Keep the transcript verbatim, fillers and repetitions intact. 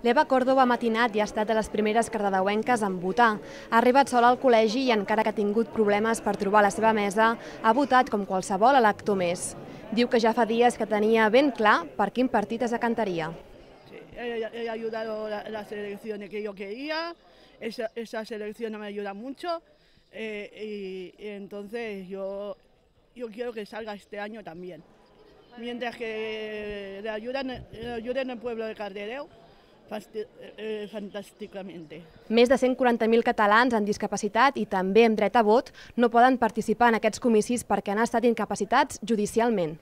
L'Eva Córdoba Matinat ja ha estat de les primeres cardedeuenques en votar. Ha arribat sola al col·legi i, encara que ha tingut problemes per trobar la seva mesa, ha votat com qualsevol elector més. Diu que ja fa dies que tenia ben clar per quin partit es decantaria. Sí, he, he ayudado a las elecciones que yo quería, esa, esas elecciones me ayudan mucho eh, y, y entonces yo, yo quiero que salga este año también. Mientras que le ayuden, le ayuden el pueblo de Cardedeu, fantàsticament. Més de cent quaranta mil catalans amb discapacitat i també amb dret a vot no poden participar en aquests comicis perquè han estat incapacitats judicialment.